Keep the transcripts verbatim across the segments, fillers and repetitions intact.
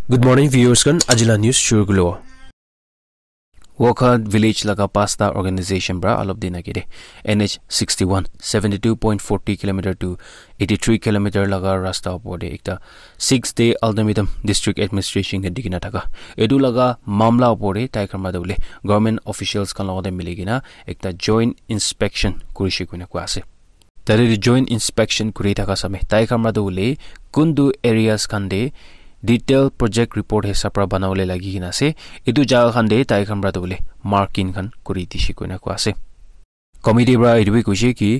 Good morning, viewers khan. Ajila news shuru kulo. Wokha village laga pasta organization pra alop din agede N H sixty-one, seventy-two point forty kilometer to eighty-three kilometer laga rasta opor de ekta six day ultimatum district administration ke dikina thaka. Etu laga mamla opor de tai khan madu le government officials khan logote mili kina ekta joint inspection kurishe kuina kua ase. Tate tu joint inspection kuri thaka same. Tai khan pra tu hoile kuntu areas khan te detail project report hisab pra banabole lagi kena ase. Etu jaga khan te tai khan pra tu hoile marking khan kuri dishe koina koi ase. Committee pra etu bi koishe ki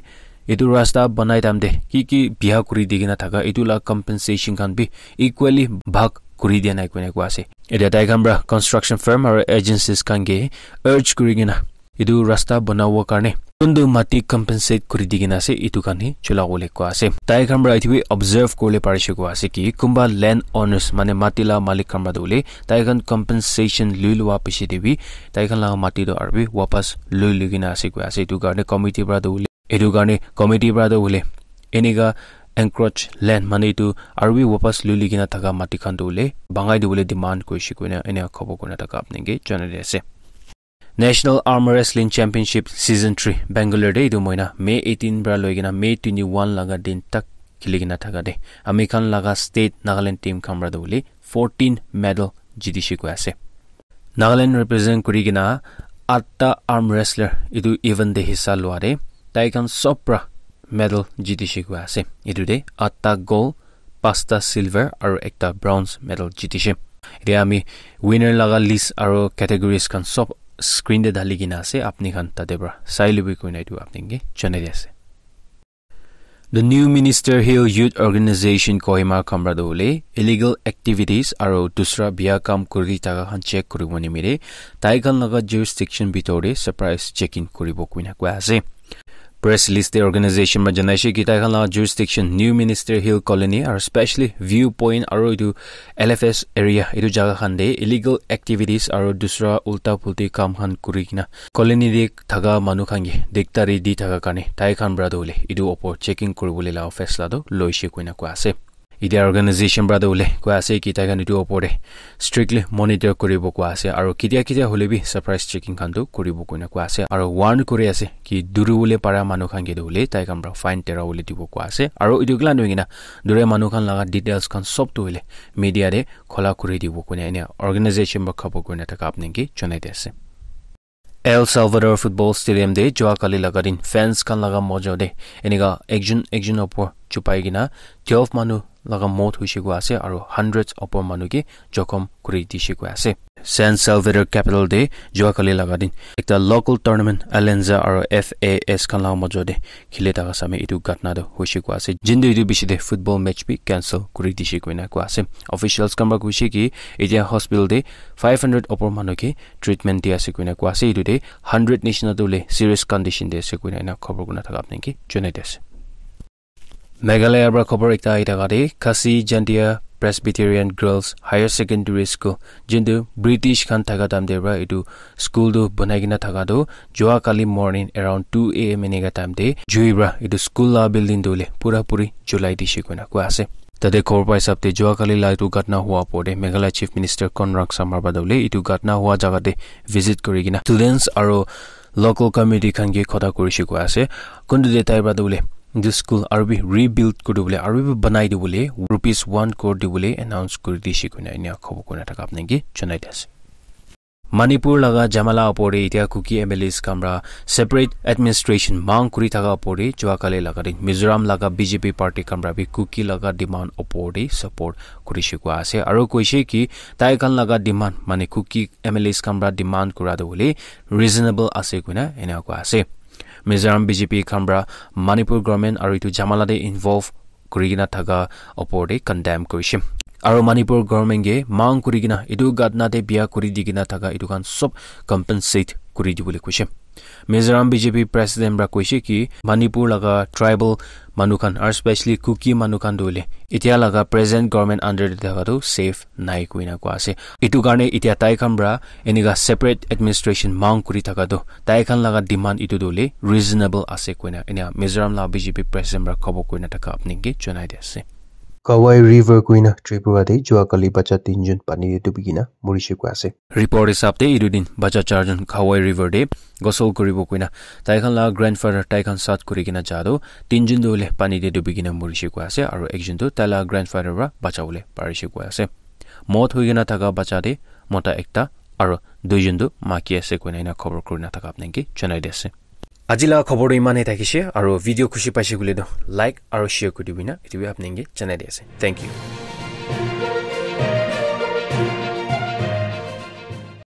etu rasta banai time te ki ki biya kuri di kena thaka etu la compensation khan bi equally bhag kuri dia nai koina koi ase. Etia tai khan pra construction firm aro agencies khan ke urge kuri kena etu rasta banabo karne kuntu mati compensate kuri di kena ase, etu khan hi chula bole koi ase. Tai khan pra etu bi observe kuribole parishe koi ase ki kunba land owners mane mati la malik khan pra tu hoile tai khan compensation lui lua piche te bi tai khan la mati tu aru bi wapas lui lui kena ase koi ase. Etu karne committee pra tu hoile, etu karne committee pra tu hoile enika encroach land mane etu aru bi wapas lui lui kena thaka mati khan tu hoile bangai dibole demand kurishe koina ena khobor kurina thaka apni ke janai di ase. National Arm Wrestling Championship Season three Bangalore te etu moina May eighteen pra loi kena May twenty-one laga din tak khili kena thaka de ami khan laga state Nagaland team khan pra tu hoile fourteen medal jitishe koi ase. Nagaland represent kuri kena atta arm wrestler etu event te hissa lua de tai khan sob pra medal jitishe koi ase. Etu te atta gold, pasta silver aro ekta bronze medal jitishe. Etia ami winner laga list aro categories khan sob screen te dali kena ase, apni khan tate pra sai lobi koina etu apni ke janai di ase. The New Minister Hill Youth Organization Kohima khan pra tu hoile illegal activities aro dusra biya kam kuri thaka khan check kuribo nimite tai khan laga jurisdiction bitor te surprise checking kuribo koina koi ase. Press release te organization pra janaishe ki tai khan la jurisdiction New Minister Hill Colony aro specially View Point aro etu L F S area etu jaga khan te illegal activities aro dusra ulta pulti kam khan kuri kena colony te thaka manu khan ke dikdari di thaka karne tai khan pra tu hoile etu opor checking kuribole la office la tu loishe koina koi ase. Etia organization pra tu hoile koi ase ki tai khan etu opor te strictly monitor kuribo koi ase aro ketia ketia hoile bi surprise checking khan tu kuribo koina koi ase aro warn kuri ase ki duri bole para manu khan ke tu hoile tai khan pra fine tera bole dibo koi ase aro etu kila noi kena dure manu khan laga details khan sob tu hoile media te khola kuri dibo koina ena organization pra khabo koina thaka apni ke janai di ase. El Salvador Football Stadium te jua kali laga din fans khan laga mojo te enika ekjon ekjon opor chupai kena twelve manu laga mot hoishe koi ase aro hundreds opor manu ke jokhom kuri dishe koi ase. San Salvador capital te jua kali laga din ekta local tournament Alianza aro F A S khan laga mojo te khili thaka same etu ghatna tu hoishe koi ase. Jintu etu bishi te football match bi cancel kuri dishe koina koi ase. Officials khan pra koishe ki etia hospital te five hundred opor manu ke treatment di ase koina koi ase. Etu te hundred nishina tu hoile serious condition te ase koina ena khobor kurina thaka apni ke janai di ase. Meghalaya pra khobor ekta ahi thaka te Khasi Jaintia Presbyterian Girls Higher Secondary School jintu British khan thaka time te pra etu school tu banai kena thaka tu jua kali morning around two A M enika time te jui pra etu school la building tu hoile pura puri julai dishe koina koi ase. Tate khobor pa hisab te jua kali la etu ghatna hua opor te Meghalaya Chief Minister Conrad Sangma pra tu hoile etu ghatna hua jaga te visit kuri kena students aro local community khan ke khota kurishe koi ase. Kuntu te tai pra tu hoile etu school aru bi rebuild kuri dibole aru bi banai dibole rupees one crore dibole announce kuri dishe koina ena khobor kurina thaka apni ke janai di ase. Manipur laga jamala opor te etia Kuki M L As khan pra separate administration mang kuri thaka opor te jua kali laga din Mizoram laga B J P party khan pra bi Kuki laga demand opor te support kurishe koi ase aro koishe ki tai khan laga demand mane Kuki M L As khan pra demand kura tu hoile reasonable ase koina ena koi ase. Mizoram B J P khan pra Manipur government aro etu jamala te involve kuri kena thaka opor te condemn kurishe. Aro Manipur government ke mang kuri kena etu ghatna te biya kuri di kena thaka etu khan sob compensate kuri dibole koishe. Mizoram B J P president pra koishe ki Manipur laga tribal manu khan aro specially Kuki manu khan tu hoile etia laga present government under te thaka tu safe nai koina koi ase. Etu karne etia tai khan pra enika separate administration mang kuri thaka tu tai khan laga demand etu tu hoile reasonable ase koina ena Mizoram la B J P president pra khobor kurina thaka apni ke janai di ase. Kawai River koina Tripura te jua kali bacha tinjun pani te dubi kena morishe koi ase. Report hisab te etu din bacha charjun Kawai River te ghosol kuribo koina tai khan la grandfather tai khan sat kuri kena ja toh tinjun toh hoile pani te dubi kena morishe koi ase, aro ekjun toh tai la grandfather para bachawole parishe koi ase. Mot hoi kena thaka bacha te mota ekta aro duijun toh maki ase koina ena khobor kurina thaka apni ke janai di ase. Aji la khobor toh iman he thakishe, aro video khushi paishe koile toh like aro share kuri dibina, etu bi apni ke janai di ase. Thank you.